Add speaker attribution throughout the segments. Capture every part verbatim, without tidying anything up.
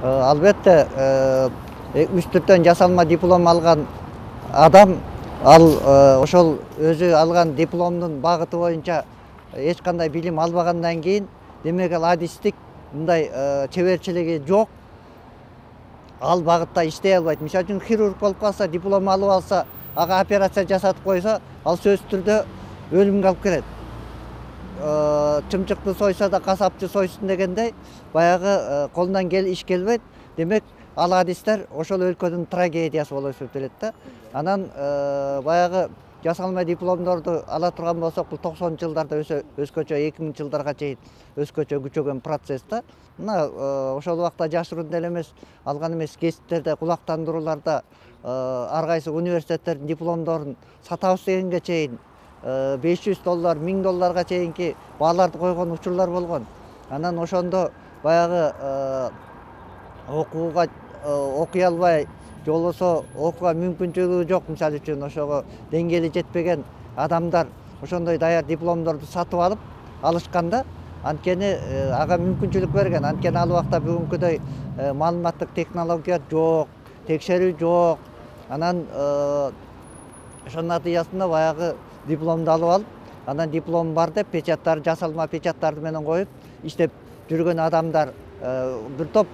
Speaker 1: Албетте үч түрдөн жасалма диплом алган адам ал ошол өзү алган дипломдун багыты боюнча эч кандай билим албагандан кийин, демек ал адистик мындай чеберчилиги жок, ал багытта иштей албайт. Мисалы үчүн хирург болуп калса, диплом алып алса, ага операция жасатып койсо, ал сөзсүз түрдө өлүмгө алып келет. Чымчыкты сойсо да касапчы сойсун дегендей, баягы колунан кел иш келбейт. Демек ал адистер ошол өлкөнүн трагедиясы болуп эсептелет да. Анан баягы жасалма дипломдорду ала турган болсок, бул токсонунчу жылдарда өзгөчө эки миңинчи жылдарга чейин өзгөчө күчөгөн процесс да. Мына ошол убакта жашыруун деле эмес, алган эмес кесиптерде, кулактандырууларда ар кайсы университеттердин дипломдорун сатабыз дегенге чейин беш жүз доллар, миң долларга чейинки бааларды койгон учурлар болгон. Анан ошондо баягы окууга окуй албай, же болбосо окууга мүмкүнчүлүгү жок, мисалы үчүн ошого деңгээли жетпеген адамдар ошондой даяр дипломдорду сатып алып алышканда, анткени ага мүмкүнчүлүк берген. Анткени ал убакта бүгүнкүдөй маалыматтык технология жок, текшерүү жок. Анан ошонун натыйжасында баягы дипломду алып алып, анан диплом бар деп печаттар, жасалма печаттарды менен коюп иштеп жүргөн адамдар, бир топ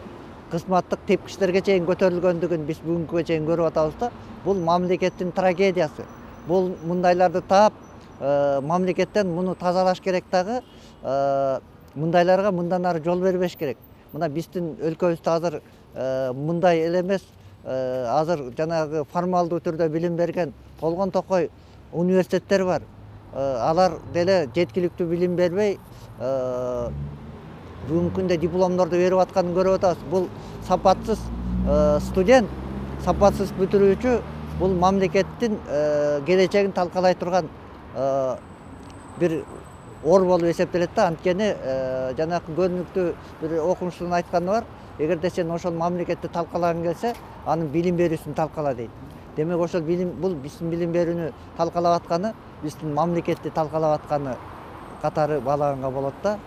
Speaker 1: кызматтык тепкичтерге чейин көтөрүлгөндүгүн биз бүгүнкүгө чейин көрүп атабыз да. Бул мамлекеттин трагедиясы. Бул мындайларды таап, мамлекеттен муну тазалаш керек дагы, мындайларга мындан ары жол бербеш керек. Мына биздин өлкөбүздө азыр мындай эле эмес, азыр жанагы формалдуу түрдө билим берген колгон токой университеттер бар. Алар деле жеткиликтүү билим бербей, бүгүнкү күндө дипломдорду берип атканын көрүп атабыз. Бул сапатсыз студент, сапатсыз бүтүрүүчү, бул мамлекеттин келечегин талкалай турган бир ор болуп эсептелет да. Анткени жанагы көрүнүктүү бир окумуштунун айтканы бар: эгерде сен ошол мамлекетти талкалагың келсе, анын билим берүүсүн талкала дейт. Демек ошол билим, бул биздин билим берүүнү талкалап атканы, биздин мамлекетти талкалап атканы катары баалаганга болот да.